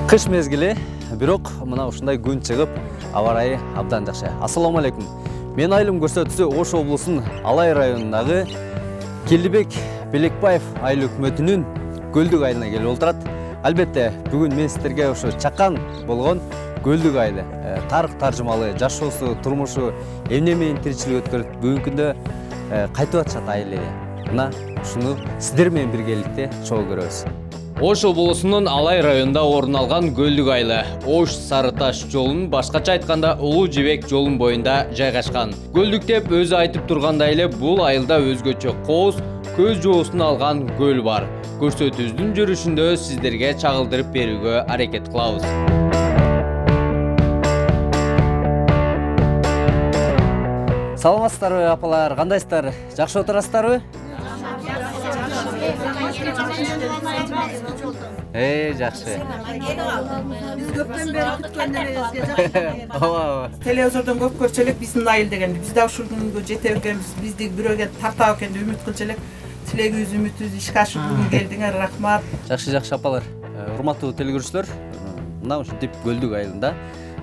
Кыш мезгили, бирок мына ушундай күн чыгып, аба ырайы абдан жакшы. Ассаламу алейкум. Мен айылым көрсөтүүсү Ош облусунун Алай районундагы Келдибек Белекбаев айыл өкмөтүнүн Көлдүк айылына келип отурат. Албетте, бүгүн мен сиздерге ошо чакан болгон Көлдүк айылы тарых таржымалы жашоосу, турмушу, эмне менен тиричилик өткөрүп, бүгүнкү күндө кайтып атышат айыл эли. Мына ушуну сиздер менен биргеликте чогуу көрөбүз. Ош облусунун Алай районунда орун алган Көлдүк айылы Ош Сары Таш жолунун, башкача айтканда Улуу Жибек жолунун боюнда жайгашкан. Көлдүк деп өзү айтып тургандай эле бул айылда өзгөчө кооз, көз жоосун алган көл бар. Көрсөтүүбүздүн жүрүшүндө сиздерге чагылдырып берүүгө аракет кылабыз. Саламатсыздарбы апалар, кандайсыздар? Жакшы отурасыздарбы? Жакшы. Биз көптөн бери күткөнүбүзгө жакшы. Ооба. Телевизордон көп көрчү элек биздин айыл дегенди. Биз да ушул күнгө жете экенбиз, бизди бирөөгө тартабы экен деп үмүт кылчу элек. Тилегибиз, үмүтүбүз ишке ашып бүгүн келдиңер, рахмат. Жакшы апалар. Урматтуу телекөрүүчүлөр, мына ушинтип Көлдүк айылында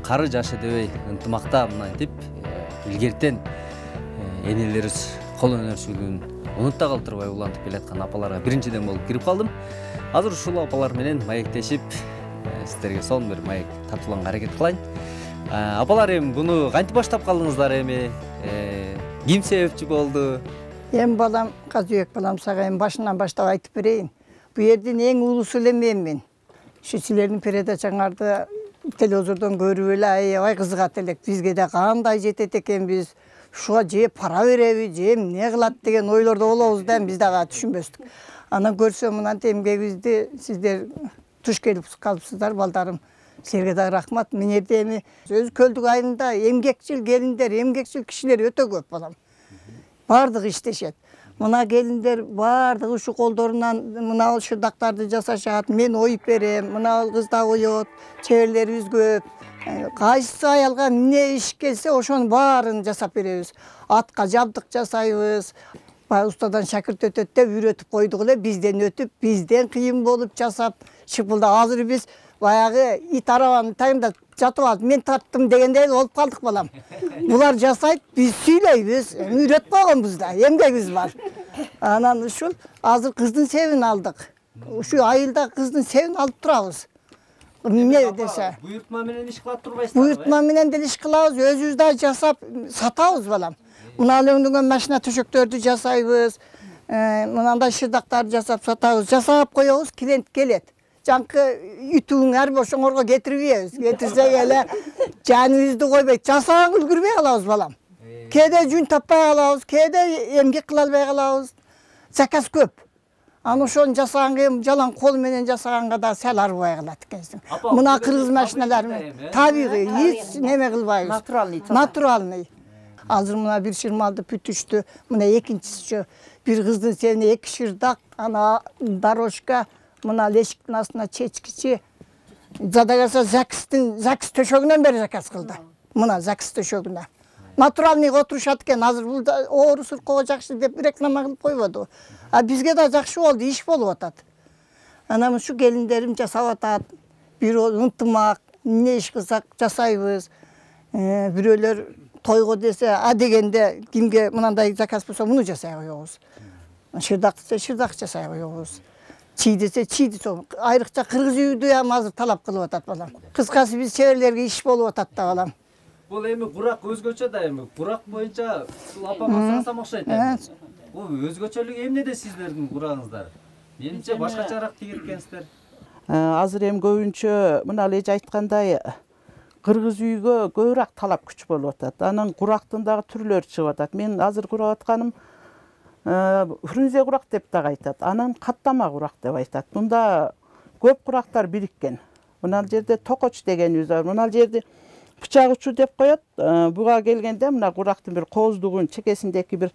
кары жашы дебей ынтымакта мынтип илгертен энелерибиз кол өнөрчүлүгүн унутта калтырбай улантып келаткан апаларга биринчиден болуп кирип калдым. Азыр ушул апалар менен маектешип, сиздерге сонун бир маек тартууланга аракет кылайын. Апалар, эми буну кантип баштап калдыңыздар эми? Ким себепчи болду? Эми балам, Казыбек балам, сага эми башынан баштап айтып берейин. Бу жердин эң улуусу эле мен. Ушу силердин передачаңарды телевизордон көрүп эле аябай кызыгат элек. Бизге да кандай жетет экенбиз, ушуга же пара береби, же эмне кылат деген ойлордо болобуз да, биз дагы түшүнбөстүк. Анан көрсөм мына эмгегибизди сиздер туш келип калыпсыздар, балдарым. Силерге дагы рахмат. Мен жерде эми өзү Көлдүк айылында эмгекчил келиндер, эмгекчил кишилер өтө көп балам. Бардыгы иштешет. Мына келиндер бардыгы ушу колдорунан мына шырдактарды жасашат. Мен оюп берем, мына кыз да оет, чеберлерибиз көп. Кайсы аялга эмне иш келсе, ошонун баарын жасап беребиз. Атка жабдык жасайбыз. Устадан шакирт өтөт деп үйрөтүп койдук эле, бизден өтүп, бизден кыйын болуп жасап, шыпылда азыр биз баягы ит арабанын тагында жатып алып, мен тарттым дегендей болуп калдык балам. Булар жасайт, биз сүйлөйбүз, үйрөтүп койгонбуз да, эмгегибиз бар. Анан ушул азыр кыздын себин алдык. Ушу айылда кыздын себин алып турабыз. Эмне десе? Буйртма менен иш кылып турбайсыздар? Буйртма менен деле иш кылабыз, өзүбүз да жасап сатабыз балам. Мына өңдөгөн машина төшөктөрдү жасайбыз. Мынандай шырдактарды жасап сатабыз. Жасап коебуз, клиент келет. Жанкы үтүүң ар ошоңорго кетирбейбиз. Кетирсек эле жаныбызды койбойт. Жасаганга үлгүрбөй калабыз балам. Кээде жүн таппай калабыз, кээде эмгек кыла албай калабыз. Заказ көп. Аны ошону жасаганга жалаң кол менен жасаганга да сал арбай калат экенсиң. Мына кыргыз машиналары менен табигый, эч неме кылбайбыз. Натуральный. Азыр мына бир шырмалды бүтүштү. Мына экинчиси бир кыздын себине 2 шырдак, ана дорожка, мына лешиктин астына чечкичи. Задагаса закис төшөгүнөн бери заказ кылды. Мына закис төшөгүнө. Натуральный отурушат экен. Азыр бул оору суркого жакшы деп реклама кылып койбоду. А бизге да жакшы болду, иш болуп атат. Анан ушу келиндерим жасап атат. Бир ынтымак, эмне иш кылсак жасайбыз. Бирөөлөр тойго десе, дегенде кимге мынандай заказ болсо муну жасай коебуз. Шырдак десе шырдак жасай коебуз. Чий десе чий десе. Айрыкча кыргыз үйдү ham азыр талап кылып атат балам. Кыскасы биз чеберлерге иш болуп атат да балам. Бул эми курак өзгөчө да эми. Курак боюнча апама сурасам окшойт эми. Бул өзгөчөлүгү эмнеде сиздердин курагыңыздар? Менимче башкачараак тигет экенсиздер. Азыр эми көбүнчө мына эле айткандай кыргыз үйгө көбүрөөк талап күч болуп атат. Анын курактын дагы түрлөрү чыгып атат. Мен азыр курап атканым фрунзе курак деп дагы айтат. Анан каттама курак деп айтат. Мында көп курактар бириккен. Мына жерде токоч дегенибиз бар. Мына жерде бычак учу деп коет. Буга келгенде мына курактын бир кооздугун чекесиндеки бир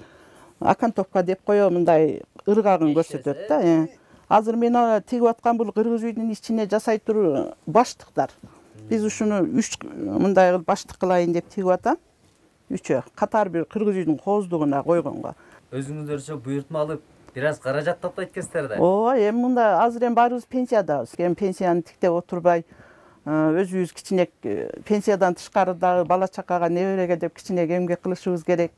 акантовка деп коё, мындай ыргагын көрсөтөт да. Азыр мен тигип аткан бул кыргыз үйдүн ичине жасай туруп баштыктар. Биз ушуну 3 мындай кылып баштык кылайын деп тигип атам. 3 катар бир кыргыз үйдүн кооздугуна койгонго. Өзүңүздөрчө буйртма алып бир аз каражат топтойт экенсиздер да. Ооба, эми мында азыр эми баарыбыз пенсиядабыз. Эми пенсияны тиктеп отурбай, өзүбүз кичине пенсиядан тышкары дагы бала чакага, небереге деп кичине эмгек кылышыбыз керек.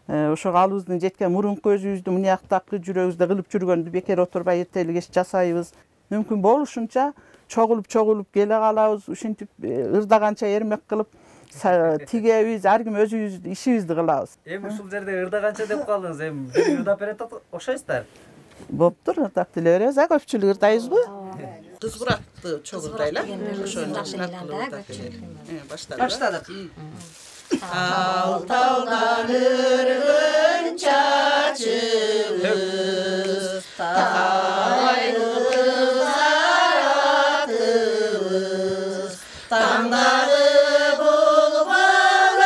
Ошого алыбыздын жеткен мурунку өзүбүздүн мынияктагы жүрөгүбүздө кылып жүргөндү бекер отурбай эртели кеч жасайбыз. Мүмкүн болушунча чогулуп келе калабыз. Ушинтип ырдаганча эрмек кылып тигебиз, ар ким өзүбүздүн ишибизди кылабыз. Эми ушул жерде ырдаганча деп калдыңыз. Эми бир ырдап берет окшойсуздар. Боптур, ырдап деле беребиз. Көпчүлүк ырдайбызбы? Кыз куракты чогуу ырдайлы. Ошону жакшылап кылып баштадык. Ал таудан өргөн чачыбыз, тағайлы заратыбыз, таңдағы болған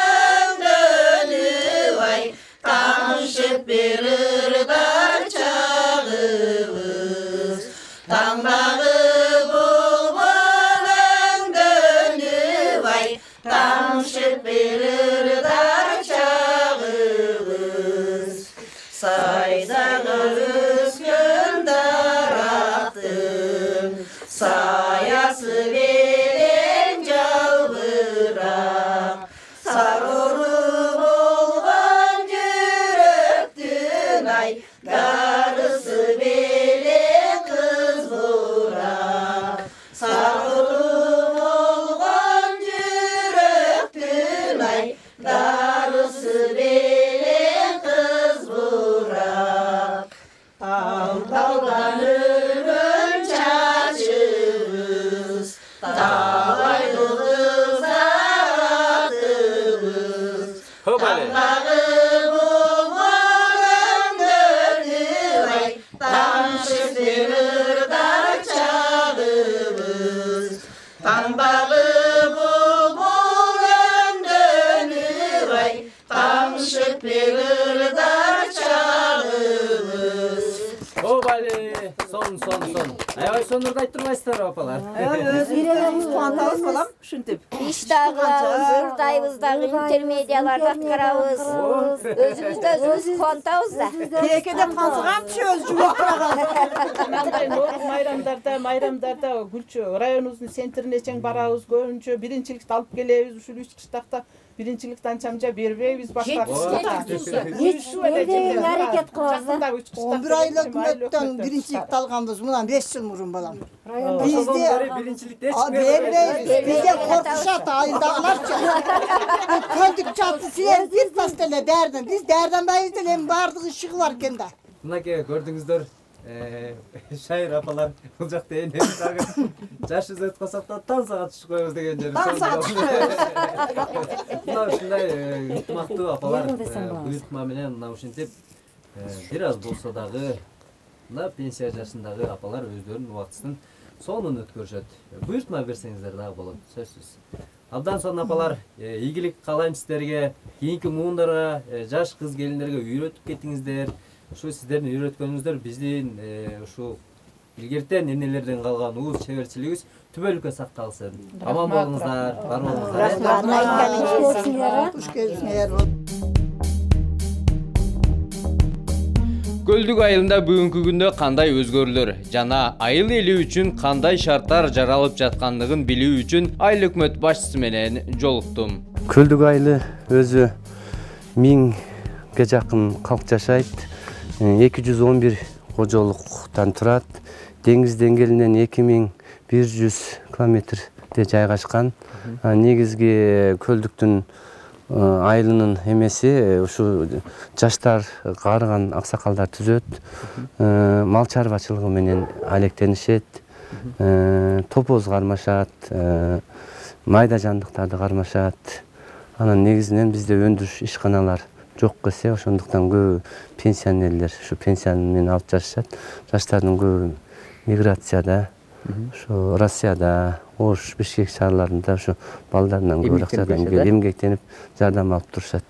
өңдөніп ай, тамшып берірдар чағыбыз, таңдағы болған өңдөніп ай, тамшып берірдар чағыбыз, сайдағы өскен дарақтың саясы беден жалбырақ, сароры болған жүректің ай, дарысы белең қыз бұрақ, сароры болған жүректің ай, дарысы белең қыз бұрақ. Ал талдан өргөн чачыбыз, талайлы заратыбыз, таңдағы болған өңдөніп ай, тамшып берірдар чағыбыз, таңдағы болған өңдөніп ай, тамшып берірдар чағыбыз. Обали, сон. Аябай сон ырдайт турбайсыздар апалар. Өзүбүз кубантабыз балам, ушинтип. Иш дагы кылабыз, ырдайбыз дагы, интермедияларды аткарабыз. Өзүбүздө өзүбүз кубантабыз да. Кээкеде кансыгам түшөбүз жумактаган. Мындай майрамдарда Гүлчө районубуздун центрине чейин барабыз, көбүнчө биринчиликти алып келебиз. Ушул 3 кыштакта биринчиликти анчамча бербейбиз башка. Аракет кылабыз да. 11 айлык өкмөттөн биринчиликти алганбыз мынан 5 жыл мурун балам. Бизде биринчиликте бербейбиз. Бизде коркушат айылдагыларчы. Көлдүк чатты силер бир тас деле дәрден. Биз дәрденбайбыз деле эми баардыгы ишиги бар экен да. Мынакей көрдүңүздөр, шайыр апалар бул жакта эне дагы жаш өзөт калсак да таң саат түшүп коебуз деген жери. Мына ушундай ыкмактуу апалар буйртма менен мына ушинтип бир аз болсо дагы мына пенсия жашындагы апалар өздөрүнүн убактысын сонун өткөрүшөт. Буйртма берсеңиздер дагы болот, сөзсүз. Абдан сонун апалар, ийгилик каалайм сиздерге, кийинки муундарга, жаш кыз келиндерге үйрөтүп кетиңиздер. Ушу сиздердин үйрөткөнүңүздөр биздин ушу илгертен энелерден калган уус чеберчилигибиз түбөлүккө сакталсын. Аман болуңуздар, бар болуңуздар. Куш келсиңер. Көлдүк айылында бүгүнкү күндө кандай өзгөрүүлөр жана айыл эли үчүн кандай шарттар жаралып жаткандыгын билүү үчүн айыл өкмөт башчысы менен жолуктум. Көлдүк айылы өзү 1000ге жакын калк жашайт. 211 кожолуктан турат. Деңиз деңгээлинен 2100 километрде жайгашкан. Негизги көлдүктүн айылынын эмеси ушу жаштар каарыган аксакалдар түзөт. Мал чарбачылыгы менен алектенишет. Топоз кармашат, майда жандыктарды кармашат. Анан негизинен бизде өндүрүш ишканалар жок эсе, ошондуктан көп пенсионерлер ушу пенсияны менен алып жашашат. Жаштардын көп миграцияда, ушу Россияда, Ош, Бишкек шаарларында ушу балдарынан көп акчадан эмгектенип жардам алып турушат.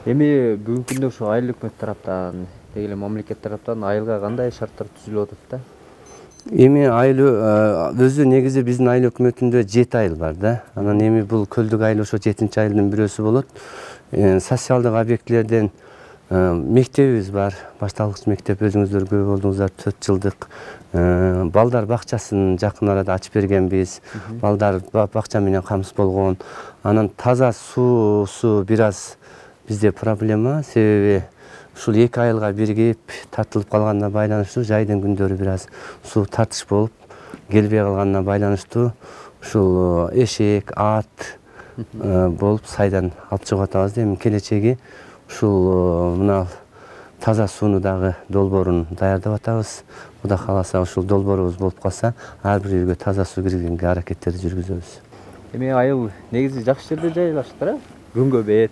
Эми бүгүнкү күндө ушу айыл өкмөт тараптан деги эле мамлекет тараптан айылга кандай шарттар түзүлүп атат да? Эми айыл өзү негизи биздин айыл өкмөтүндө 7 айыл бар да. Анан эми бул көлдүк айыл ошо 7-чи айылдын бирөөсү болот. Социалдык объектилерден мектебибиз бар. Башталгыч мектеп өзүңүздөр көп болдуңуздар, 4 жылдык. Балдар бакчасын жакын арада ачып бергенбиз. Балдар бакча менен камсыз болгон. Анан таза суусу бир аз бизде проблема, себеби ушул 2 айылга биригип тартылып калганына байланыштуу жайдын күндөрү бир аз суу тартыш болуп келбей калганына байланыштуу ушул эшек, ат болуп сайдан алып чыгып атабыз. Эми келечеги ушул мына таза сууну дагы долбоорун даярдап атабыз. Кудай кааласа ушул долбоорубуз болуп калса, ар бир үйгө таза суу киргизгенге аракеттерди жүргүзөбүз. Эми айыл негизи жакшы жерде жайлаштыр, күнгө бет.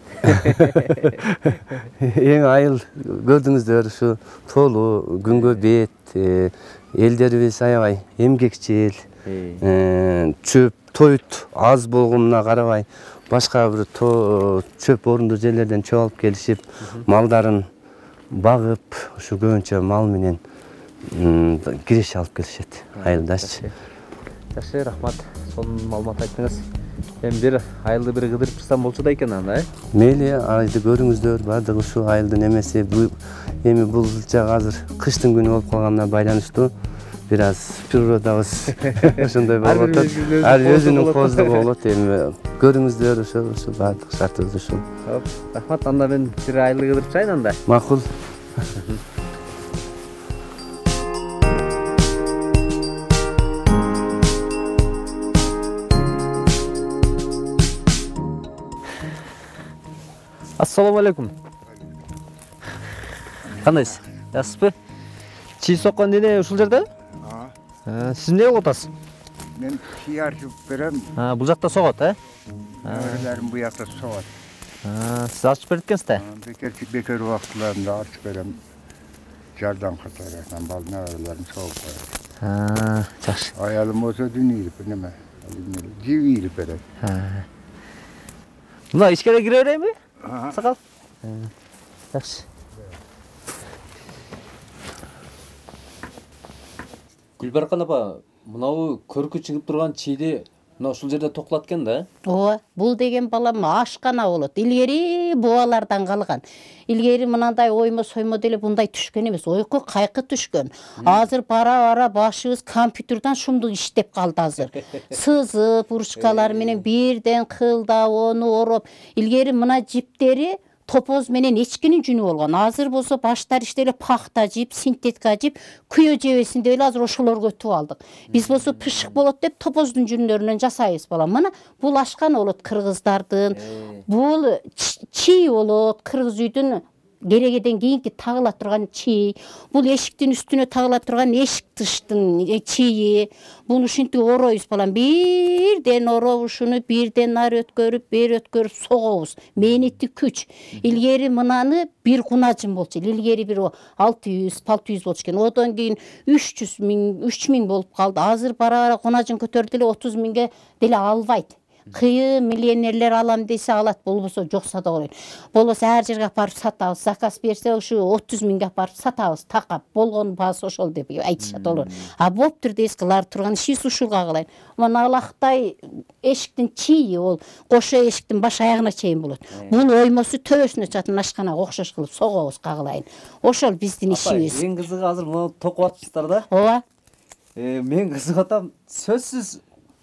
Эң айыл көрдүңүздөр, ушу тоолуу, күнгө бет, элдерибиз аябай эмгекчил, чөп, тоют аз болгонуна карабай, башка бир чөп орундуу жерлерден чөп алып келишип, малдарын багып, ушу көбүнчө мал менен киреше алып келишет айылдачы. Жакшы, рахмат. Сонун маалымат айттыңыз. Эми бир айылды бир кыдырып чыксам болчу да экен анда, Мейли, айылды көрүңүздөр, баардыгы ушу айылдын эмеси. Эми бул жак азыр кыштын күнү болуп калганына байланыштуу бир аз природабыз ошондой болуп атат. Ар өзүнүн кооздугу болот. Эми көрүңүздөр, ошо баардык шартыбыз ушул. Рахмат, анда мен бир айылды кыдырып чыгайын анда. Макул. Ассаламу алейкум. Кандайсыз? Жакшысызбы? Чий соккон дене ушул жерде? Сиз эмне кылып атасыз? Мен чий арчып берем. Бул жакта согот, Нерелерим бу жакта согот. Сиз арчып берип экенсиз да? Бекер убактыларында арчып берем. Жардам катары, бал нерелерим согуп коет. Жакшы. Аялым болсо дүнүйлүп неме? Живийлип берет. Мына ичкере кире берейинби? Сакал. Жакшы. Гүлбаркан апа, мынабу көркү чыгып турган чийди мына ушул жерде токтолот экен да? Ооба, бул деген балам ашкана болот. Илгери бубалардан калган. Илгери мынандай оймо соймо деле мындай түшкөн эмес. Ойко кайкы түшкөн. Азыр бара башыбыз компьютерден шумдук иштеп калды азыр. Сызып, ручкалар менен бирден кылдап, ону ороп. Илгери мына жиптери топоз менен эчкинин жүнү болгон. Азыр болсо баштар иштеле пахта жип, синтетика жип, күйө жебесин деп эле азыр ошолорго өтүп алдык. Биз болсо пышык болот деп топоздун жүнүнөн жасайбыз балам. Мына бул ашкан болот кыргыздардын. Бул чий болот кыргыз үйдүн керегеден кийинки тагыла турган чий. Бул эшиктин үстүнө тагыла турган эшик тыштын чийи. Буну ушинтип оройбуз балам. Бирден ороп ушуну бирден ары өткөрүп, бери өткөрүп согобуз. Мээнети күч. Илгери мынаны бир кунажын болчу. Илгери бир 600 болчу экен. Одон кийин 3000 болуп калды. Азыр бара кунажын көтөрдү эле 30 миңге деле албайт. Кыйын миллионерлер алам десе алат, болбосо жокса да коет. Болбосо ар жерге апарып сатабыз. Заказ берсе ушу 30 миңге апарып сатабыз. Такап болгон баасы ошол деп айтышат олар. Болуптур дейсиз, кылар турган ишибиз ушулга кылайын. Мына алактай эшиктин чийи ол кошо эшиктин баш аягына чейин болот. Бул оймосу төбөсүнө чатын ашканага окшош кылып согобуз кагылайын. Ошол биздин ишибиз. Эң кызыгы азыр муну токуп атыпсыздар да? Ооба. Мен кызыгып атам, сөзсүз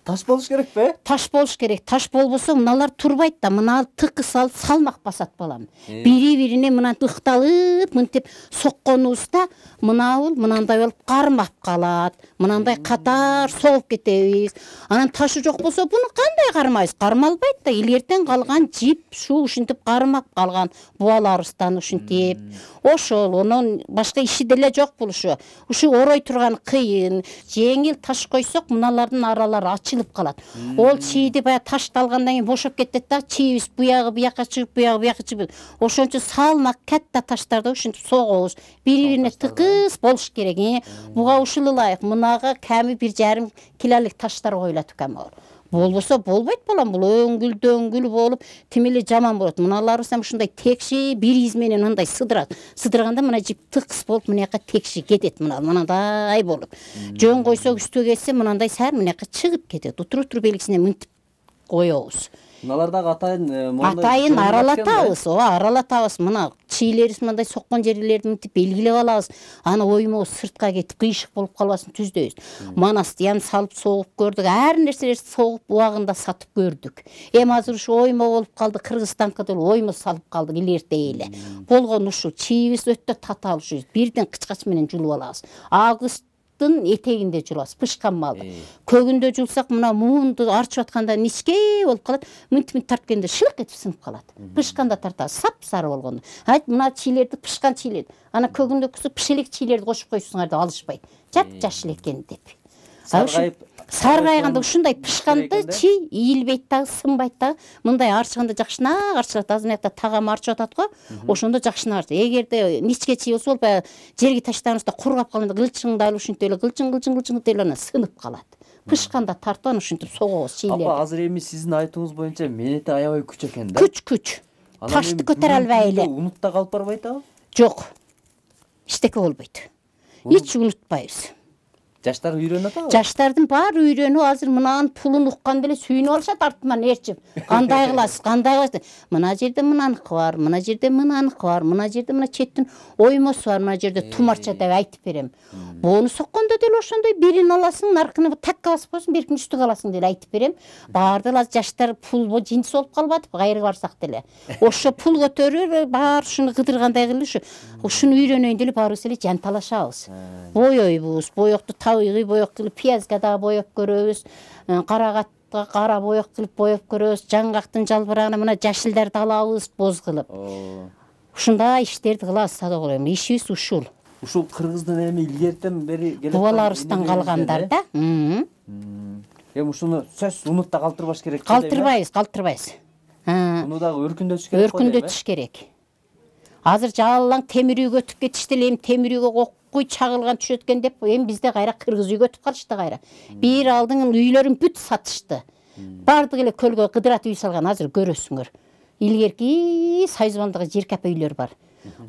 таш болуш керек бе? Таш болуш керек. Таш болбосо мыналар турбайт да. Мына тыкы салып салмак басат балам. Бири-бирине мына ыкталып, мынтип сокконубузда мынабул мынандай болуп кармап калат. Мынандай катар согуп кетебиз. Анан ташы жок болсо буну кандай кармайбыз? Кармалбайт да. Илгертен калган жип, ушинтип кармап калган бубаларыбыздан ушинтип. Ошол, онун башка иши деле жок бул ушу. Ушу орой турган кыйын, жеңил таш койсок, мыналардын аралары ачылып калат. Ол чийди бая ташталгандан кийин бошоп кетет да, чийибиз буягы буякка чыгып, буягы буякка чыгып. Ошончо салмак катта таштарды ушинтип согобуз. Бири-бирине тыкыз болуш керек. Буга ушул ылайык. Мынага ками 1,5 килолук таштар коюлат экен. Болбосо болбойт балам, бул өңгүл болуп тим эле жаман болот. Мыналарыбыз ушундай текши бир из менен мындай сыдырат. Сыдырганда мына жип тыкс болуп мынаяка текши кетет, мынандай болуп. Жөн койсок үстүгө кетсе мынандай саар мынаяка чыгып кетет. Утур белгисине мынтип коебуз. Мыналар дагы атайын аралатабыз, аралатабыз. Мына чийлерибиз мындай соккон жерлерди мынтип белгилеп алабыз. Аны оймобуз сыртка кетип кыйшык болуп калбасын түздөйбүз. Манастыян салып согуп көрдүк, ар нерселерди согуп убагында сатып көрдүк. Эми азыр ушу оймо болуп калды, Кыргызстанка деле оймо салып калдык илгерте эле. Болгон ушул чийибиз өтө татаал, ушу бирден кычкач менен жулуп алабыз. Августтын этегинде жулабыз, пышкан малды. Көгүндө жулсак мына муунду арчып атканда ничке болуп калат, мынтип тарткенде шылык этип сынып калат. Пышканда тартабыз, сап-сары болгондо. Мына чийлерди, пышкан чийлерди. Ана көгүндө пышелек чийлерди кошуп коюшсуңар деп алышпайт. Жап-жашыл экен деп. Саргайганда ушундай пышканды чий ийилбейт дагы, сынбайт дагы. Мындай арчыганда жакшынак арчылат. Азыр мынакта тагам арчып атат го. Ошондо жакшынак арчып. Эгерде ничке чий болсо, баягы жерге таштаганыбызда кургап калганда кылчыңды алып ушинтип эле кылчың деле ана сынып калат. Пышканда тартып аны ушинтип согобуз чийлерди. Апа, азыр эми сиздин айтууңуз боюнча менети аябай күч экен да? Күч. Ташты көтөрө албай эле. Унутта калып барбайт абы? Жок. Эчтеке болбойт. Эч унутпайбыз. Жаштар үйрөнүп атабы? Жаштардын баары үйрөнүп, азыр мынанын пулун укканда эле сүйүнүп алышат артыман ээрчип. Кандай кыласыз, кандай кыласыз? Мына жерде мынаныкы бар, мына жерде мынаныкы бар, мына жерде мына четтин оймосу бар, мына жерде тумарча деп айтып берем. Бону соккондо деле ошондой бирин аласың, наркыны такка басып коесуң, биркини үстүгө аласың деп айтып берем. Баарды азыр жаштар пул жинс болуп калбатып, кайры барсак деле. Ошо пул көтөрүп, баары ушуну кыдыргандай кылып, ушуну үйрөнөйүн деле баарыбыз эле жанталашабыз. Боёйбуз, боёкту табигый боек кылып, пиязга да боеп көрөбүз, карагатка кара боек кылып боеп көрөбүз, жаңгактын жалбырагына мына жашылдарды алабыз боз кылып. Ушундай иштерди кылабыз садок эле. Ишибиз ушул. Ушул Кыргыздын эми илгертен бери келе бабаларыбыздан калгандар да. Эми ушуну сөз унутта калтырбаш керек. Калтырбайбыз. Муну дагы өркүндөтүш керек. Өркүндөтүш керек. Азыр жалаң темир үйгө өтүп кетишти эле, эми темир үйгө куй чагылган түшөт экен деп, эми бизде кайра кыргыз үйгө өтүп калышты кайра. Бир алдың үйлөрүн бүт сатышты. Бардык эле көлгө кыдырат үй салган, азыр көрөсүңөр. Илгерки Сайзыбандагы Жеркапа үйлөр бар.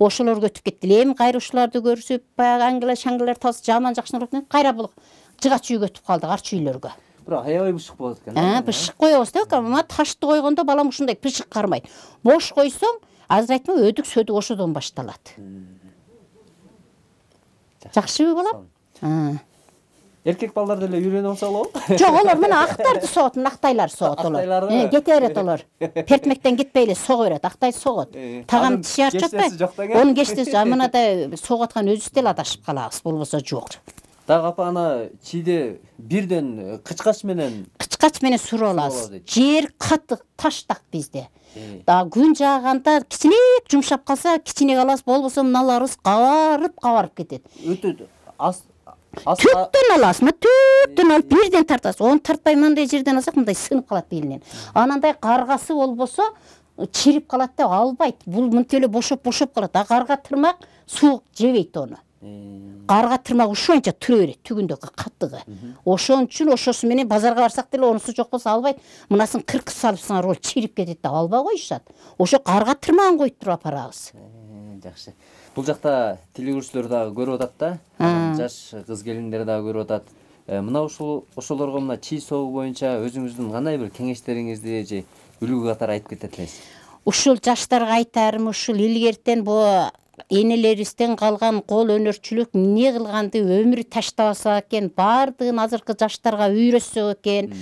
Ошолорго өтүп кетти. Эми кайра ушуларды көрүшүп, баягы аңгыла-шаңгылар таз жаман жакшынак болуп, кайра бул жыгач үйгө өтүп калдык, арчы үйлөргө. Бирок аябай бышык болот экен. Бышык коебуз да, ама ташты койгондо балам ушундай бышык кармайт. Бош койсоң, азыр айтма өдүк-сөдүк ошодон башталат. Жакшыбы балам? Эркек балдар деле үйрөнүп алса болобу? Жок, олар мына актарды согот, актайлар согот олар. Кете берет олар. Пертмектен кетпей эле сого берет, актай согот. Тагам тиши арчып атпайбы? Онун кештеси мындай согуп аткан өзүбүз деле адашып калабыз, болбосо жок. Дагы апа ана чийде бирден кычкач менен суруп алабыз. Жер катык, таштак bizde. Да күн жааганда кичинек жумшап калса, кичинек алабыз, болбосо мыналарыбыз кабарып кетет. Өтөт. Түптөн аласыз, түптөн алып бирден тартасыз. Оны тартпай мындай жерден алсак, мындай сынып калат белинен. Анандай каргасы болбосо чирип калат деп албайт. Бул мынтип эле бошоп калат. Карга тырмак суук жебейт ону. Карга тырмак ушунча тура берет, түгүндөгү каттыгы. Ошон үчүн ошосу менен базарга барсак деле онусу жок болсо албайт. Мынасын кыркы салыпсыңар, ол чирип кетет деп албай коюшат. Ошо карга тырмагын коюп туруп апарабыз. Жакшы. Бул жакта телегөрүүчүлөр дагы көрүп атат да. Жаш кыз келиндер дагы көрүп атат. Мына ошолорго мына чий согуу боюнча өзүңүздүн кандай бир кеңештериңизди же үлгү катары айтып кетет элесиз? Ушул жаштарга айтарым, ушул илгертен бу энелерибизден калган кол өнөрчүлүк эмне кылганды өмүрү таштабаса экен, баардыгын азыркы жаштарга үйрөтсөк экен.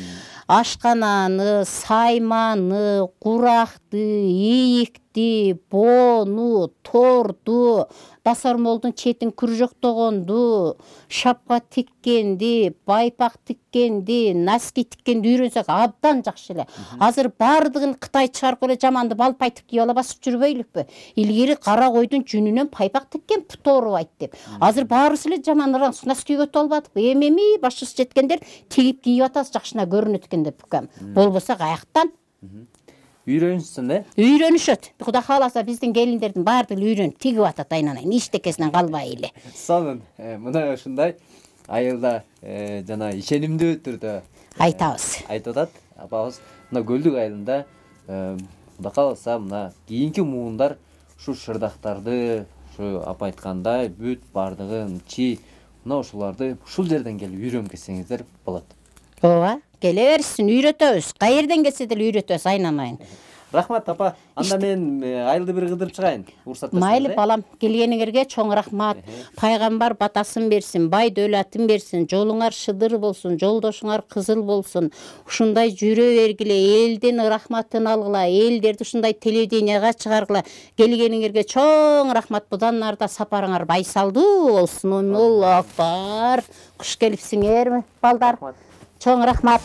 Ашкананы, сайманы, куракты, ийикти, бону, торду, басармолдун четин күржөктөгөндү, шапка тиккенди, байпак тиккенди, носки тиккенди үйрөнсөк абдан жакшы эле. Азыр баардыгын Кытай чыгарып эле жаманды балпайтып кийип ала басып жүрбөйлүкпү? Илгери кара койдун жүнүнөн пайпак тиккен тоорубайт деп. Азыр баарыбыз эле жаман носки кийип албадыкпы? Эми башыбыз жеткендер тигип кийип атабыз, жакшына көрүнөт экен деп бүкөм. Болбосо каяктан? Үйрөнүшсүн, Үйрөнүшөт. Кудай кааласа биздин келиндердин баардыгы үйрөнүп тигип атат айнанайын, эчтекесинен калбай эле. Сонун. Мына ушундай айылда жана ишенимдүү түрдө айтабыз. Айтып атат. апабыз мына Көлдүк айылында Кудай кааласа мына кийинки муундар ушу шырдактарды ушу апа айткандай бүт бардыгын чи мына ушуларды ушул жерден келип үйрөнүп кетсеңиздер болот. Ооба, келе берсин, үйрөтөбүз. Каерден келсе деле үйрөтөбүз айнамайын. Рахмат апа. Анда мен айылды бир кыдырып чыгайын. Уруксат берсеңиз. Майли балам, келгениңерге чоң рахмат. Пайгамбар батасын берсин, бай дөөлатын берсин, жолуңар шыдыр болсун, жолдошуңар кызыл болсун. Ушундай жүрө бергиле, элдин рахматын алгыла, элдерди ушундай телевиденияга чыгаргыла. Келгениңерге чоң рахмат. Будан нарда сапарыңар байсалдуу болсун. Аллаху акбар. Куш келипсиңерби, балдар? Чоң рахмат.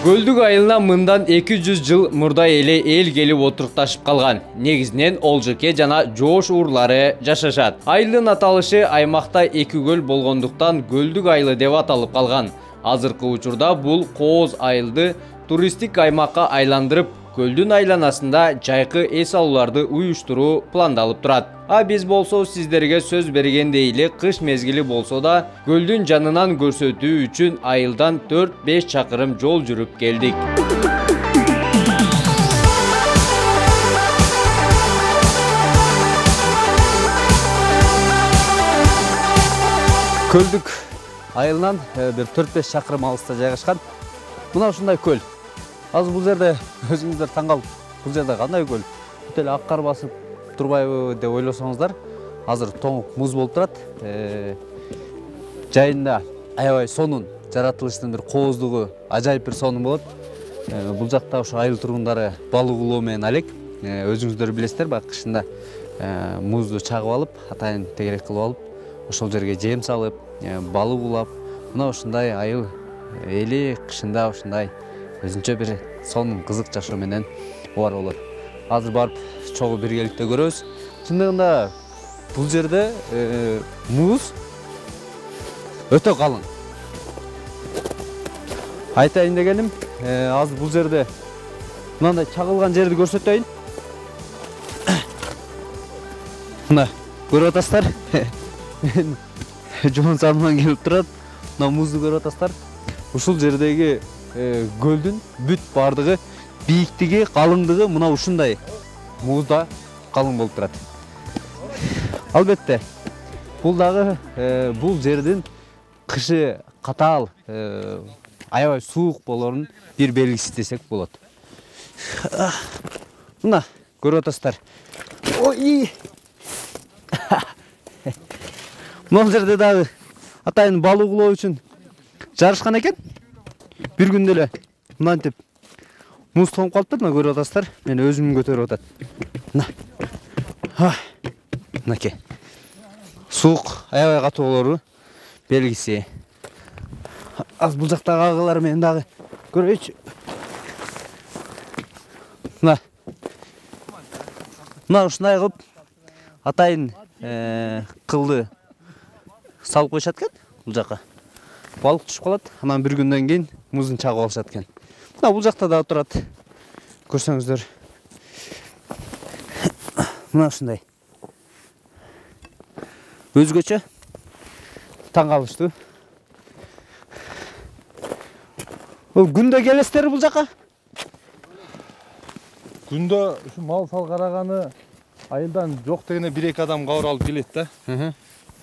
Көлдүк айылына мындан 200 жыл мурда эле эл келип отурукташып калган. Негизинен Олжоке жана Жоош уурлары жашашат. Айылдын аталышы аймакта 2 көл болгондуктан Көлдүк айылы деп аталып калган. Азыркы учурда бул кооз айылды туристтик аймакка айландырып, көлдүн айланасында жайкы эс алууларды уюштуруу пландалып турат. А биз болсо сиздерге сөз бергендей эле кыш мезгили болсо да көлдүн жанынан көрсөтүү үчүн айылдан 4-5 чакырым жол жүрүп келдик. Көлдүк айылынан бир 4-5 чакырым алыста жайгашкан. Мына ушундай көл. Азыр бул жерде өзүңүздөр таң калып, бул жерде кандай көл? Бүт эле ак кар басып турбайбы деп ойлосоңуздар, азыр тоңук муз болуп турат. Жайында аябай сонун жаратылыштын бир кооздугу, ажайып бир сонун болот. Бул жакта ошо айыл тургундары балык улоо менен алек. Өзүңүздөр билесиздер, баягы кышында музду чагып алып, атайын тегерек кылып алып, ошол жерге жем салып, балык улап, мына ушундай айыл эли кышында ушундай өзүнчө бир сонун кызык жашоо менен бар болот. Азыр барып чогуу биргеликте көрөбүз. Чындыгында бул жерде муз өтө калың. Айтайын дегеним, азыр бул жерде мындай чагылган жерди көрсөтөйүн. Мына көрүп атасыздар. Мен жоон санынан келип турат. Мына музду көрүп атасыздар. Ушул жердеги көлдүн бүт бардыгы, бийиктиги, калыңдыгы мына ушундай музда калың болуп турат. Албетте, бул дагы бул жердин кышы катаал, аябай суук болорун бир белгиси десек болот. Мына көрүп атасыздар. Ой! Мына жерде дагы атайын балык улоо үчүн жарышкан экен. Бир күндө эле мынантип муз тоңуп калыптыр, мына көрүп атасыздар. Мен өзүм көтөрүп атат. Мына. Мынакей. Суук аябай катуу болору белгиси. Az бул жактагы агылар мен дагы көрөйчү. Мына. Мына ушундай кылып атайын кылды салып коюшат экен бул жака. Балык түшүп калат, анан бир күндөн кийин муздун чагып алышат экен. Мына бул жакта да турат. Көрсөңүздөр. Мына ушундай. Өзгөчө таң калыштуу. Бул күндө келесиздер бул жака? Күндө ушу мал сал караганы айылдан жок дегене 1-2 адам кабар алып келет да.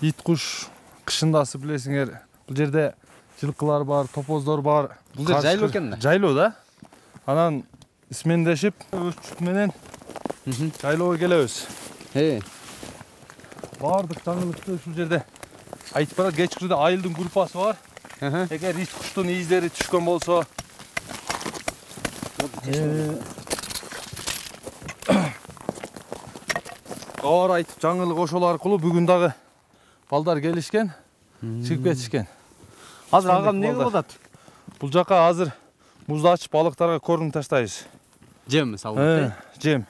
Ит куш кышындасы билесиңер. Бул жерде жылкылар бар, топоздор бар. Бул жер жайлоо экен да? Жайлоо да. Анан исмендешип өз жут менен жайлоого келебиз. Бардык жаңылыкты ушул жерде айтып барат. Кечкирде айылдын группасы бар. Эгер ит куштун издери түшкөн болсо, кабар айтып жаңылык ошол аркылуу бүгүн дагы балдар келишкен, чыгып кетишкен. Азыр агам не кылып атат? Бул жака азыр музду ачып балыктарга корм таштайбыз. Жем салып, жем.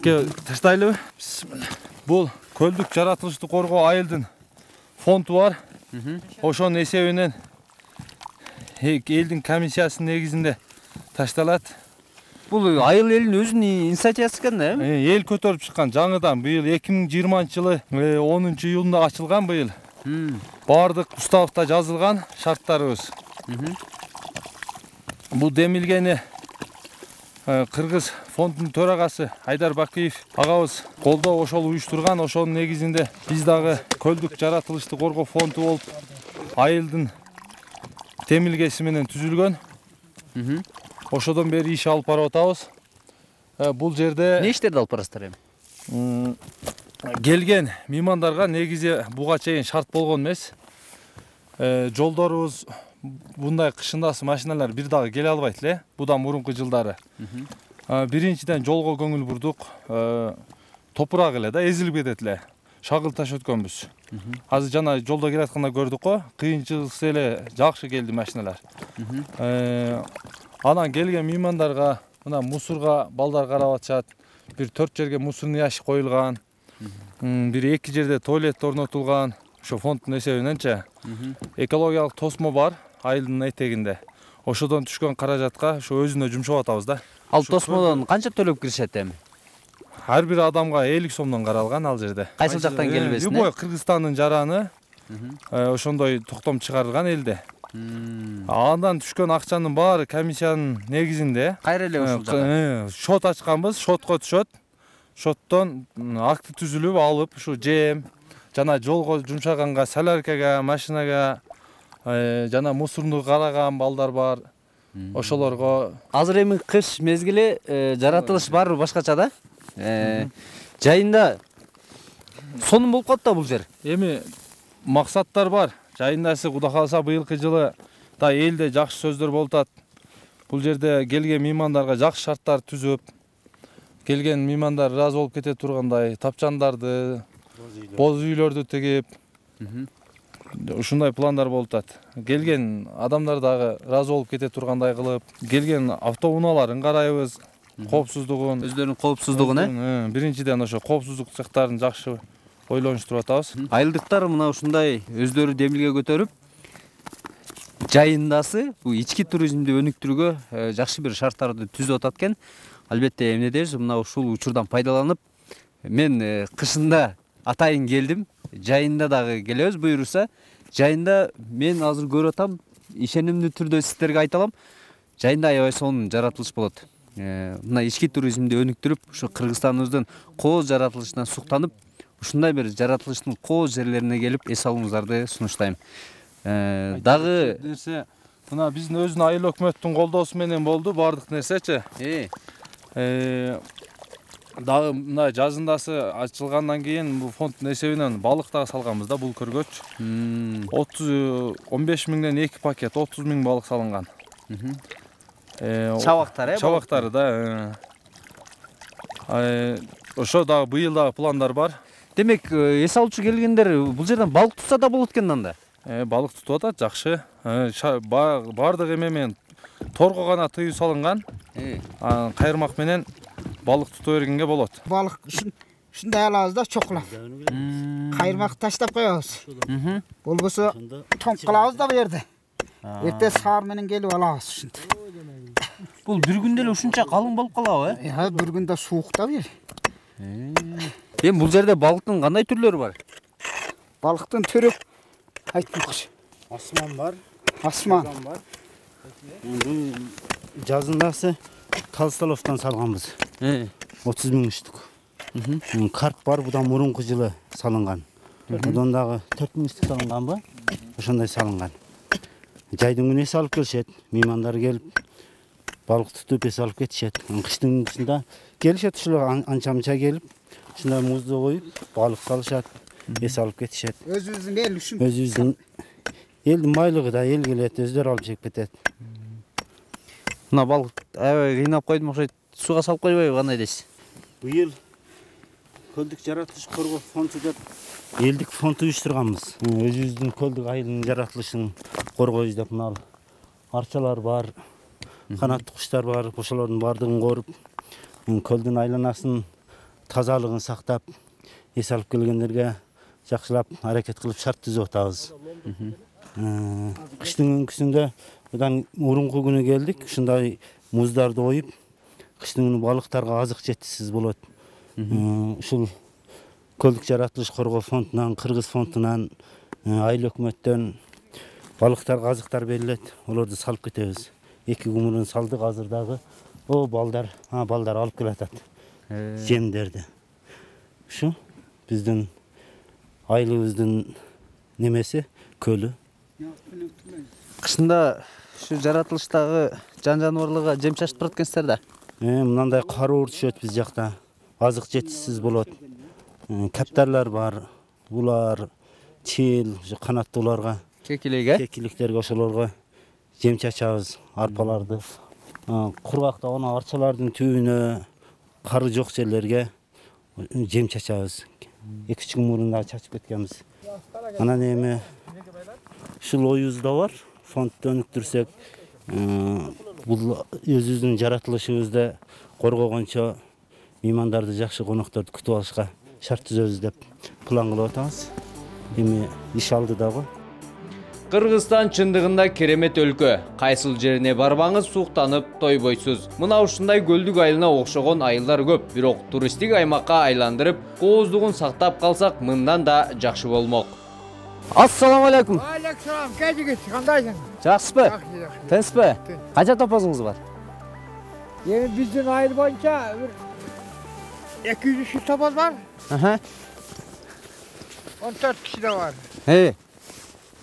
Таштайлыбы? Бисмилла. Бул көлдүк жаратылышты коргоо айылдын фонду бар. Ошонун эсебинен элдин комиссиясынын негизинде ташталат. Бул айыл элинин өзүнүн инициативасы экен да? Эл көтөрүп чыккан жаңыдан быйыл 2020 жылы 10-июлунда ачылган быйыл. Бардык уставда жазылган шарттарыбыз. Бул демилгени Кыргыз фондунун төрагасы Айдар Бакиев агабыз колдоо ошол уюштурган. Ошонун негизинде биз дагы көлдүк жаратылышты коргоо фонду болуп айылдын демилгеси менен түзүлгөн. Ошодон бери иш алып барып атабыз. Бул жерде эмне иштерди алып барасыздар эми? Келген меймандарга негизи буга чейин шарт болгон эмес. Жолдорубуз мындай кышындасы машиналар бир дагы келе албайт эле. Будан мурунку жылдары. Биринчиден жолго көңүл бурдук. Топурак эле да эзилип кетет эле. Шагыл таш өткөнбүз. Азыр жана жолдо келатканда көрдүк го, кыйынчылыксыз эле жакшы келди машиналар. Анан келген меймандарга мына мусорга балдар карап атышат. Бир 4 жерге мусорный ящик коюлган. Бир 2 жерде туалет орнотулган. Ошо фонддун эсебиненчи. Экологиялык тосмо бар айылдын этегинде. Ошодон түшкөн каражатка ошо өзүнө жумшап атабыз да. Ал тосмодон канча төлөп киришет эми? Ар бир адамга 50 сомдон каралган ал жерде. Кайсыл жактан келбесин? Любой Кыргызстандын жараны ошондой токтом чыгарылган элде. Андан түшкөн акчанын баары комиссиянын негизинде. Кайра эле ушул жакка. Шот ачканбыз, шотко түшөт. Шоттон акты түзүлүп алып, ушу жем жана жолго жумшаганга, соляркага, машинага, жана мусорну караган балдар бар. Ошолорго Азыр эми кыш мезгили жаратылыш баары башкача да. Жайында сонун болуп калат да бул жер. Эми максаттар бар. Жайындасы Кудай кааласа быйылкы жылы да элде жакшы сөздөр болуп атат. Бул жерде келген меймандарга жакшы шарттар түзүп, келген меймандар ыраазы болуп кете тургандай тапчандарды, боз үйлөрдү тигип, ушундай пландар болуп атат. Келген адамдар дагы ыраазы болуп кете тургандай кылып, келген автоунааларын карайбыз, коопсуздугун, Өздөрүнүн коопсуздугун, биринчиден ошо коопсуздук цехтарын жакшы ойлонуштуруп атабыз. Айылдыктар мына ушундай өздөрү демилге көтөрүп, жайындасы бул ички туризмди өнүктүрүүгө жакшы бир шарттарды түзүп атат экен. Албетте эмне дейбиз, мына ушул учурдан пайдаланып, мен кышында атайын келдим. Жайында дагы келебиз буйруса. Жайында мен азыр көрүп атам, ишенимдүү түрдө сиздерге айта алам. Жайында аябай сонун жаратылыш болот. Мына ички туризмди өнүктүрүп, ушу Кыргызстаныбыздын кооз жаратылышынан суктанып, ушундай бир жаратылыштын кооз жерлерине келип эс алууңуздарды сунуштайм. Дагы нерсе мына биздин өзүнүн айыл өкмөттүн колдоосу менен болду баардык нерсечи. Дагы мына жазындасы ачылгандан кийин бул фонддун эсебинен балык дагы салганбыз да бул көргөч. 15 миңден 2 пакет 30 миң балык салынган. чабактар, Чабактары да. Ошо дагы быйыл дагы пландар бар. Демек, эс алуучу келгендер бул жерден балык тутса да болот экен анда. Балык тутуп атат, жакшы. Бардык эме менен торго гана тыюу салынган. Кайырмак менен балык тутуп бергенге болот. Балык ушундай алабыз да чокулап. Кайырмак таштап коебуз. Болбосо тоңк кылабыз да бу жерде. Эрте саар менен келип алабыз ушинтип. Бул бир күндө эле ушунча калың болуп калабы, Бир күндө суук да бу жер. Эми бул жерде балыктын кандай түрлөрү бар? Балыктын түрү айтмакчы. Асман бар. Асман бар. Бул жазындасы Талстоловдон салганбыз. 30 миң штук. Карп бар, будан мурунку жылы салынган. Будан дагы 4 миң штук салынганбы? Ошондой салынган. Жайдын күнү эс алып келишет, меймандар келип балык тутуп эс алып кетишет. Кыштын күнүндө келишет ушулар анча-мынча келип, ушундай музду коюп, балык салышат, эс алып кетишет. өзүбүздүн эл үчүн. Өзүбүздүн элдин байлыгы да эл келет, өздөрү алып жеп кетет. Мына балык аябай кыйнап койдум окшойт. Сууга салып койбойбу, кандай дейсиз? Быйыл көлдүк жаратылыш коргоо фонду деп элдик фонд уюштурганбыз. Өзүбүздүн көлдүк айылдын жаратылышын коргойбуз деп мына арчалар бар, канаттуу куштар бар, ошолордун баардыгын коруп, көлдүн айланасын тазалыгын сактап, эс алып келгендерге жакшылап аракет кылып шарт түзүп атабыз. Кыштын өңкүсүндө будан мурунку күнү келдик, ушундай муздарды коюп, кыштын күнү балыктарга азык жетишсиз болот. Ушул көлдүк жаратылыш коргоо фондунан, Кыргыз фондунан Айыл өкмөттөн балыктар, казыктар берилет. Олорду салып кетебиз. 2 кумурун салдык азыр дагы. О, балдар алып келатат. Жемдерди. Ушу биздин айылыбыздын немеси көлү. Кышында ушу жаратылыштагы жан-жаныбарларга жем чачып турат экенсиздер да. Мынандай каруур түшөт биз жакта. Азык жетишсиз болот. Каптарлар бар. Улар, чил, канаттууларга, кекиликтерге ошолорго жем чачабыз, арпаларды. Кургакта гана арчалардын түбүнө, кары жок жерлерге жем чачабыз. 2-3 кумурун да чачып кеткенбиз. Анан эми ушул оюбузда бар. Фондду өнүктүрсөк, бул өзүбүздүн жаратылышыбызды коргогончо меймандарды, жакшы конокторду күтүп алышка шарт түзөбүз деп план кылып атабыз. Эми иш алдыдагы. Кыргызстан чындыгында керемет өлкө. Кайсыл жерине барбаңыз суктанып тойбойсуз. Мына ушундай көлдүк айылына окшогон айылдар көп, бирок туристтик аймакка айландырып, кооздугун сактап калсак, мындан да жакшы болмок. Ассаламу алейкум. Алейкум, кайдыгыз, кандайсың? Жакшысызбы? Тынчпы? Канча топозуңуз бар? Эми биздин айыл боюнча 200 топоз бар. 14 киши да бар.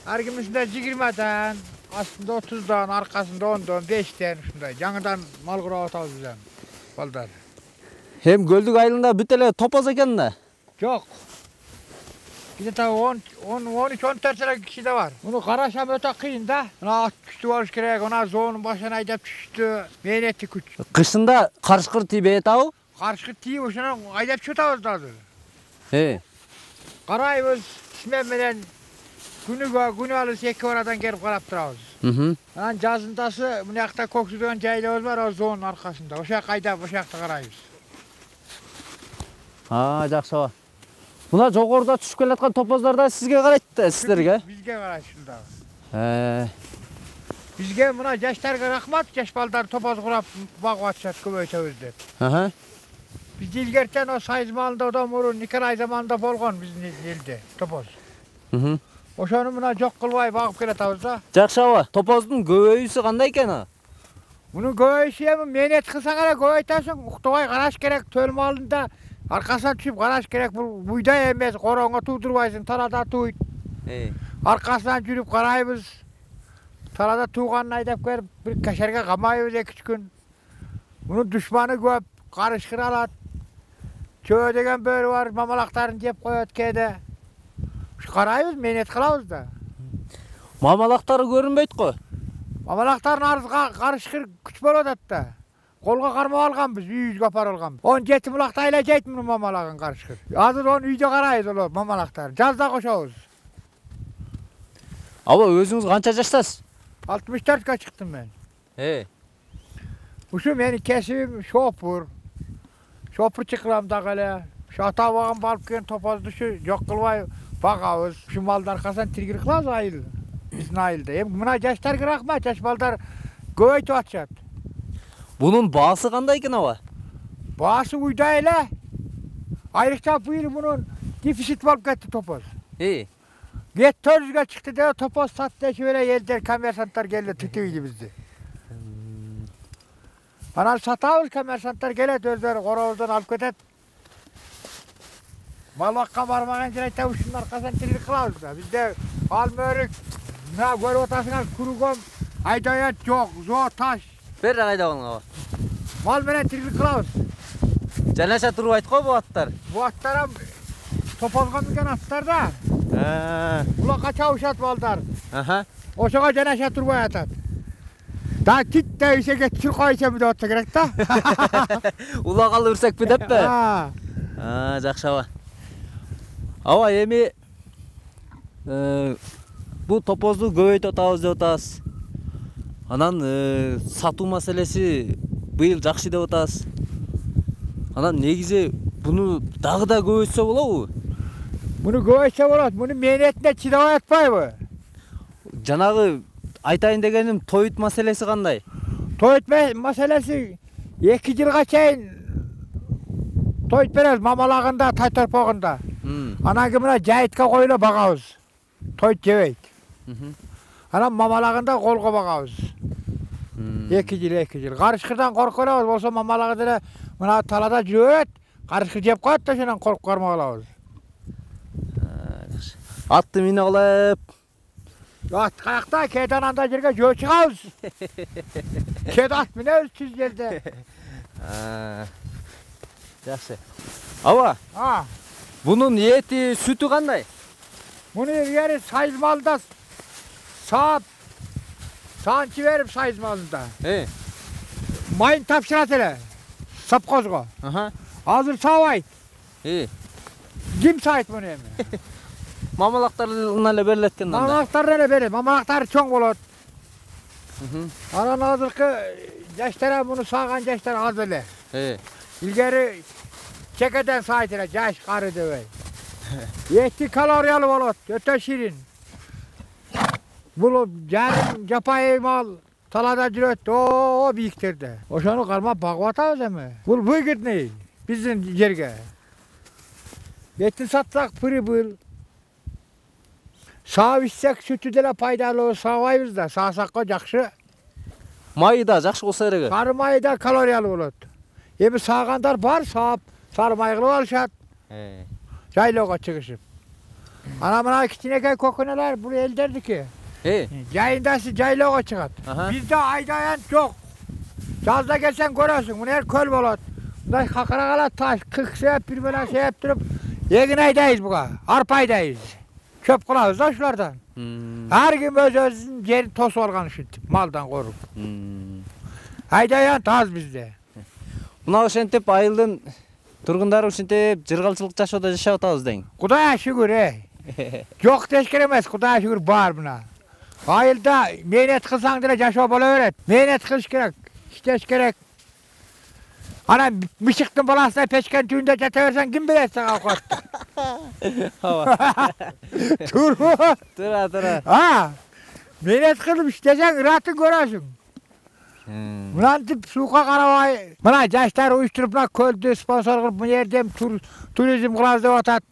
Ар кимисинде 20дан, астында 30дан, аркасында 10дан, 5тен ушундай. Жаңыдан мал курап атабыз биз балдар. Эми көлдүк айылында бүт эле топоз экен да? Жок. Где-то 13-14 эле киши да бар. Муну карашам өтө кыйын да. Мына ат күчтүү болуш керек, мына зоонун башына айдап түштү. Мээнети күч. Кышында карышкыр тийбей атабы? Карышкыр тийип ошону айдап чыгып атабыз да азыр. Карайбыз, смен менен күнү алыс 2 барадан келип карап турабыз. Анан жазындасы мына жакта Көксү деген жайлабыз бар, о зоонун аркасында. Ошол жака айдап, ошол жакта карайбыз. Жакшы. Мына жогоруда түшүп келаткан топоздар да сизге карайт да, сиздерге? Бизге карайт ушунда. Бизге мына жаштарга рахмат, жаш балдар топоз курап багып атышат, көбөйтөбүз деп. Биз илгертен о Сайыз маалында одан мурун Николай заманында болгон биздин элде топоз. Ошону мына жок кылбай багып келатабыз да. Жакшы аба, топоздун көбөйүүсү кандай экен? Мунун көбөйүшү эми мээнет кылсаң эле көбөйтөсүң, уктубай караш керек, төл маалында аркасына түшүп караш керек. Бул буйдай эмес, короңго туудурбайсың, талада тууйт. Аркасынан жүрүп карайбыз. Талада тууганын айдап келип, бир кашерге камайбыз 2-3 күн. Мунун душманы көп, карышкыр алат. Чөө деген бөрү бар, мамалактарын жеп коет кээде. Карайбыз, мээнет кылабыз да. Мамалактары көрүнбөйт го. Мамалактардын арызга карышкыр күч болуп атат да. Колго кармап алганбыз, үйүбүзгө апарып алганбыз. 17 булакта айла жейт муну мамалаган карышкыр. Азыр onu үйдө карайбыз олор мамалактар. Жазда кошобуз. Аба, өзүңүз канча жаштасыз? 64га чыктым мен. Ушу менин кесибим шопур. Шопурчу кылам дагы эле. Ушу ата бабам алып келген топозду ушу жок кылбай багабыз. Ушу малдын аркасынан тиргир кылабыз айыл. Биздин айылда. Эми мына жаштарга рахмат, жаш балдар көбөйтүп атышат. Bunun baası kандай eкен аба? Baası uyda эле. Айрыкча быйыл bunun дефицит болуп кетти топоз. Get 400га чыкты деп топоз сатты дешип эле элдер, коммерсанттар келди түтүп ийди бизди. Анан сатабыз, коммерсанттар келет, өздөрү коробуздон алып кетет. Мал бакка бармаган жер айтабы ушунун аркасынан тиргип кылабыз да. Бизде ал мөрүк, мына көрүп атасыңар кургон, айдаят жок, зоо таш. Бер айдаган аба. Мал менен тиргип кылабыз. Жанаша турбайт го бу аттар. Бу аттар топозго минген аттар да. Булакка чабышат балдар. Ошого жанаша турбай атат. Да тит да ишеге чуркайчамы деп атса керек да. Улагалы үрсекпи деппи? Жакшы аба. Аба эми бу топозду көбөйтүп атабыз деп атабыз. Анан сатуу маселеси быйыл жакшы деп атабыз. Анан негизи буну дагы да көбөйтсө болобу? Буну көбөйтсө болот. Муну мээнетине чыдабай атпайбы? Жанагы айтайын дегеним тоют маселеси кандай? Тоют маселеси 2 жылга чейин тоют беребиз мамалагында, тай торпогунда. Анан кийин мына жайытка коюлуп багабыз. той жебейт. Анан мамалагында колго багабыз. 2 жыл. Карышкырдан коркуп алабыз, болсо мамалагы деле мына талада жүрөт, карышкыр жеп коет да ошондон коркуп кармап алабыз. Атты мине алып. Ат каякта, кээде анда жерге жөө чыгабыз. Кээде ат минебиз түз жерде. Жакшы. Аба. Бунун эти, сүтү кандай? Муну эгери сайыз малда саап санчы берип сайыз малында. Майын тапшырат эле. Сапкозго. Азыр сабайт. Ким сайт муну эми? Мамалактарына эле берилет экен анда. Мамалактар эле берет. Мамалактары чоң болот. Анан азыркы жаштар муну сааган жаштар аз эле. Илгери чекеден сайт эле, жаш кары дебей. Эти калориялы болот, өтө ширин. Бул жарым жапайы мал талада жүрөт, о бийиктерде. Ошону кармап багып атабыз эми. Бул выгодный биздин жерге. Этин сатсак прибыль. Саап ичсек сүтү деле пайдалуу, саабайбыз да, саасакка жакшы. Майы да жакшы болсо керек. Сары майы да калориялуу болот. Эми саагандар бар, саап, сары май кылып алышат. Жайлоого чыгышып. Ана мына кичинекей көкөнөлөр бул элдердики. Жайындасы жайлоого чыгат. Бизде айдаян жок. Жазда келсең көрөсүң, мына көл болот. Мындай какыракала таш кыксеп, бир менен сеп туруп, эгин айдайбыз буга, арпа айдайбыз. Чөп кылабыз да ушулардан. Ар ким өзүнүн жерин тосуп алган ушинтип, малдан коруп. Айдаян таз бизде. Мына ошентип айылдын тургундары ушинтип жыргалчылык жашоодо жашап атабыз дең. Кудайга шүгүр, Жок деш керек эмес, Кудайга шүгүр бар мына. Айылда мээнет кылсаң деле жашоо боло берет. Мээнет кылыш керек, иштеш керек. Ана мышыктын баласына печкен түбүндө жата берсең ким берет сага овкатты? Турбу? Тура. Мээнет кылып иштесең ыратын көрөсүң. Мынантип суукка карабай, мына жаштар уюштуруп мына көлдү спонсор кылып мына жерде туризм кылабыз деп атат.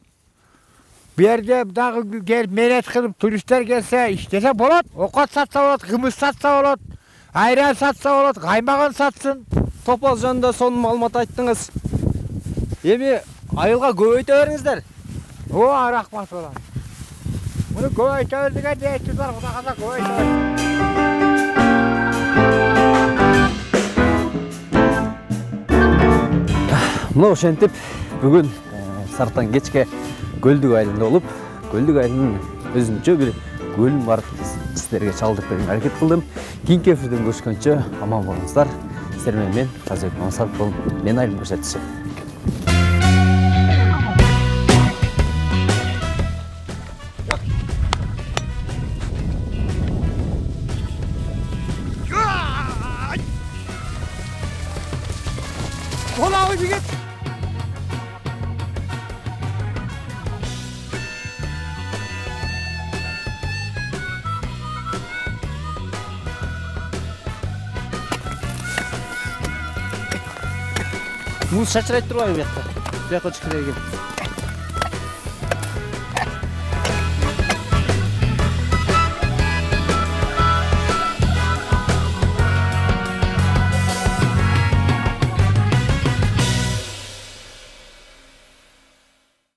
Бу жерде дагы келип мээнет кылып туристтер келсе, иштесе болот. Окот сатса болот, кымыз сатса болот, айран сатса болот, каймагын сатсын. Топоз жөнүндө сонун маалымат айттыңыз. Эми айылга көбөйтө бериңиздер. Рахмат болот. Муну көбөйтө бер деген ниетибиз бар, Кудай калса көбөйтө бер. Мына ошентип бүгүн Сартан кечке Көлдүк айылында болуп, Көлдүк айылынын өзүнчө бир көлүн барып сиздерге чалдырып берүүгө аракет кылдым. Кийинки эфирден көрүшкөнчө аман болуңуздар. Сиздер менен мен Казыбек Мамсатов болдум. Мен айылым көрсөтүүчү. Kolağını git. Muz şaşırayıp durmayın bu yakta. Bu yakta çıkıyor.